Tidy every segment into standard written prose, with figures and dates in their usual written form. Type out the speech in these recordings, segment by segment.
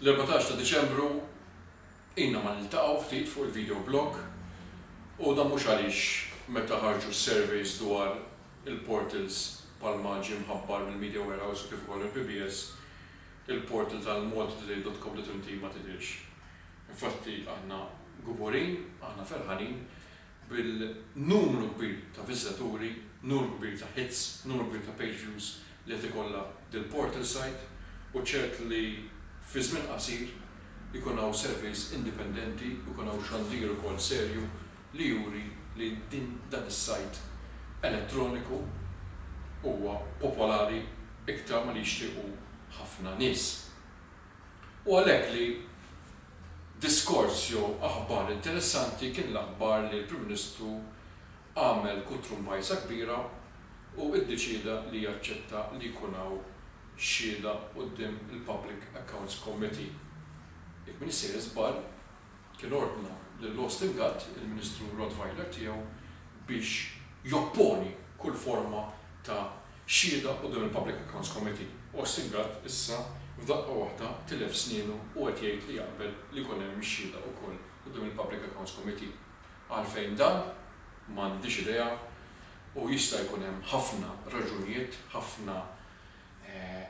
L-14 ta' Diċembru ilna ma niltaqgħu ftit fuq il-video blog u dan mhux għaliex meta ħarġu s-surveys dwar il-portals bħalma ġie mħabbar mill-Media Warehouse u kif ukoll mill-PBS, il-portal tal-maltatoday.com.mt ma tidhirx. Infatti aħna kburin, aħna ferħanin bil-numru kbir ta' viżitaturi, numru kbir ta' hits, numru kbir ta' page views li qed ikollha dil-portal site u ċert li fi żmien qasir ikun hawn surveys indipendenti u jkun hawn xandir ukoll serju li juri li din dan is-site elettroniku huwa popolari iktar ma li jixtiequ ħafna nies. U għalhekk li diskors jew aħbar interessanti kien l-aħbar li l-Prim Ministru għamel kutrumbajsa kbira u iddeċieda li jaċċetta li jkun hawn xhieda quddiem il-Public Accounts Committee. Jekk m'iniex sejjer żball, kien ordna lil Austin Gatt, il-Ministru Rottweiler tiegħu, biex jopponi kull forma ta' xhieda quddiem il-Public Accounts Committee. Austin Gatt issa f'daqqa waħda tilef snienu u qed jgħid li jaqbel li jkun hemm ix-xhieda wkoll quddiem il-Public Accounts Committee. Għalfejn dan? M'għandix idea u jista' jkun hemm ħafna raġunijiet, ħafna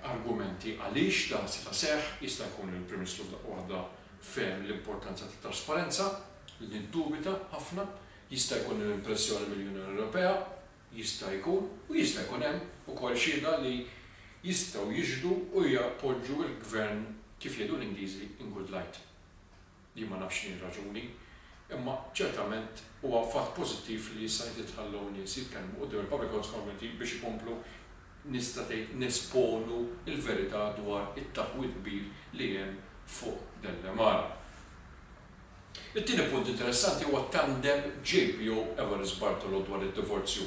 argumenti għaliex dan seta' seħħ. Jista' jkun li l-Prim Ministru f'daqqa waħda fehem l-importanza tat-trasparenza, li niddubita ħafna. Jista' jkun hemm pressjoni mill-Unjoni Ewropea, jista' jkun, u jista' jkun hemm ukoll xhieda li jistgħu jixhdu u jappoġġu l-Gvern kif jgħidu l-Ingliżi in good light. Jien ma nafx x'inhi r-raġuni, imma ċertament huwa fatt pożittiv li issa qed jitħallew nies jitkellmu quddiem il-Public Accounts Committee biex ikomplu nista' tgħid nesponu l-verità dwar it-taħwid kbir li hemm fuq Dellemara. It-tieni punt interessanti huwa t-tandem JPO Evarist Bartolo dwar id-divorzju.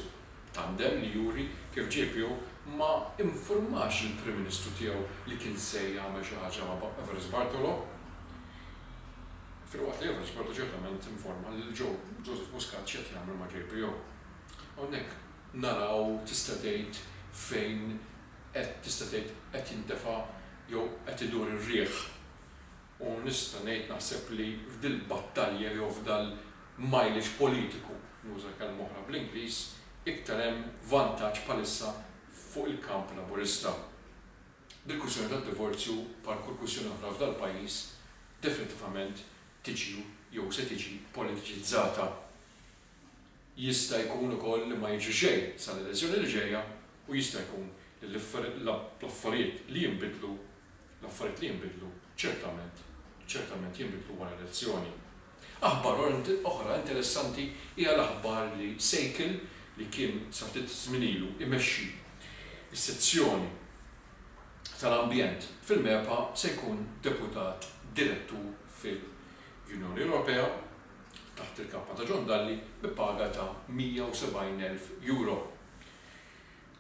Tandem li juri kif JPO ma infurmax lill-Prim Ministru tiegħu li kien se jagħmel xi ħaġa ma' Evarist Bartolo. Filwaqt li Evarist Bartolo ċertament informa lil Joseph Muscat x'qed jagħmel ma' JPO. Hawnhekk naraw tista' tgħid fejn qed tista' tgħid qed jintefa' jew qed idur ir-riħ. U nista' ngħid naħseb li f'dil-battalja jew f'dal-mileage politiku, nuża kelma oħra bl-Ingliż, iktar hemm vantaġġ bħalissa fuq il-kamp Laburista. Dil-kwistjoni tad-divorzju, bħal kull kwistjoni oħra f'dal-pajjiż, definitivament tiġi jew se tiġi politiċizzata. Jista' jkun ukoll li ma jiġri xejn sal-elezzjoni li ġejja u jista' jkun li l-affarijiet li jinbidlu L-affarijiet li jinbidlu ċertament, ċertament jinbidlu wara elezzjoni. Aħbar oħra interessanti hija l-aħbar li Sejkel, li kien sa ftit żmien ilu imexxi s-sezzjoni tal-ambjent fil-MEPA se jkun deputat direttur fil-Unjoni Ewropea taħt il-kappa ta' John Dalli bi paga ta' 170,000 euro.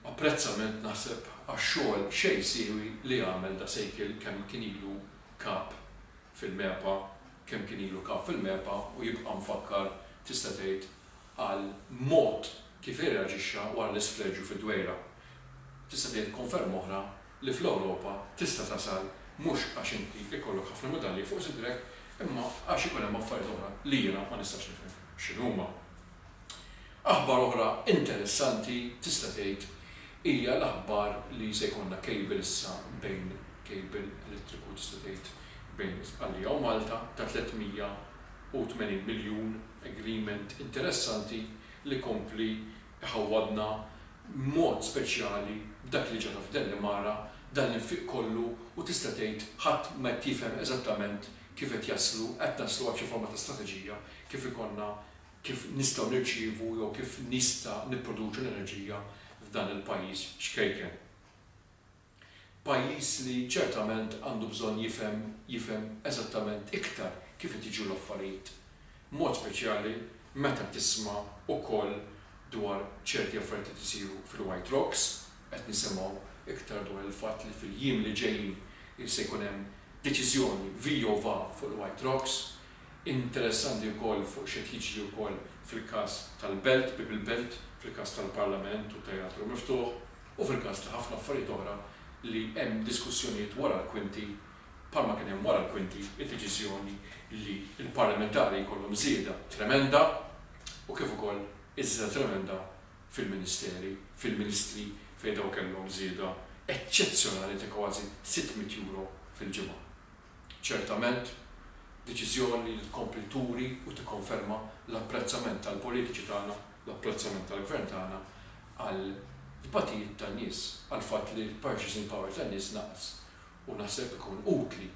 Apprezzament naħseb għax-xogħol xejn siewi li għamel da Sejkel kemm kien ilu kap fil-MEPA kemm kien ilu kap fil-MEPA u jibqa' mfakkar tista' tgħid għal mod kif irreaġixxa wara l-isfreġju fid-Dwejra. Tista' tgħid konferma oħra li fl-Ewropa tista' tasal mhux għax inti jkollok ħafna medalji fuq sidrek imma għax ikun hemm affarijiet oħra li jiena ma nistax nifhem x'inhuma. Aħbar oħra interessanti tista' tgħid hija l-aħbar li se jkollna cable issa bejn cable elettriku tista' tgħid bejn Sqallija u Malta ta' 380 miljun, agreement interessanti li jkompli jħawwadna b'mod speċjali b'dak li ġara f'Dellimara, dan l-infiq kollu u tista' tgħid ħadd ma qed jifhem eżattament kif qed jaslu, qed naslu għal xi forma ta' strateġija kif ikollna kif nistgħu nirċievu jew kif nista' nipproduċu l-enerġija f'dan il-pajjiż ċkejken. Pajjiż li ċertament għandu bżonn jifhem jifhem eżattament iktar kif qed jiġru l-affarijiet. B'mod speċjali meta tisma' ukoll dwar ċerti affarijiet li qed isiru fil-White Rocks, qed nisimgħu iktar dwar il-fatt li fil-jiem li ġejjin se jkun hemm deċiżjoni vi jew va fuq il-White Rocks. Interessanti wkoll fuq x'qed jiġri wkoll fil-każ tal-Belt, Bieb il-Belt, fil-każ tal-Parlament u t-Teatru Miftuħ u fil-każ ta' ħafna affarijiet oħra li hemm diskussjonijiet wara l-kwinti. Bħalma kien hemm wara l-kwinti id-deċiżjoni li l-parlamentari jkollhom żieda tremenda u kif ukoll iż-żieda tremenda fil-ministeri, fil-ministri fejn dawn kellhom żieda eċċezzjonali ta' kważi 600 euro fil-ġimgħa. Ċertament, deċiżjoni li tkompli turi u tikkonferma l-apprezzament tal-politiċi tagħna, l-apprezzament tal-Gvern tagħna għal tbatijiet tan-nies, għall-fatt li l-purchasing power tan-nies naqas. U naħseb ikun utli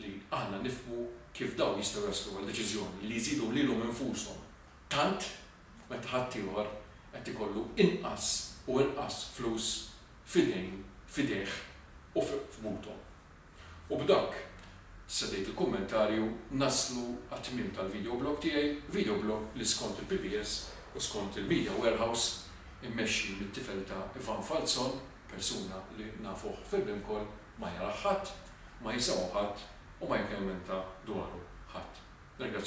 li aħna nifhmu kif dawn jistgħu jaslu għal deċiżjoni li jżidu lilhom infushom tant meta ħaddieħor qed ikollu inqas u inqas flus f'idejn, f'idejh u f'buthom. U b'dak, tista' tgħid il-kummentarju, naslu għat-tmiem tal-video blog tiegħi, video blog li skont il-PBS u skont il-Media Warehouse, immexxi mit-tifel ta' Ivan Falzon, persuna li nafuh fil-Bimcol, ma jarah ħadd, ma jisimgħu ħadd u ma jikemmenta dwaru ħadd. Nirringrazzjakom.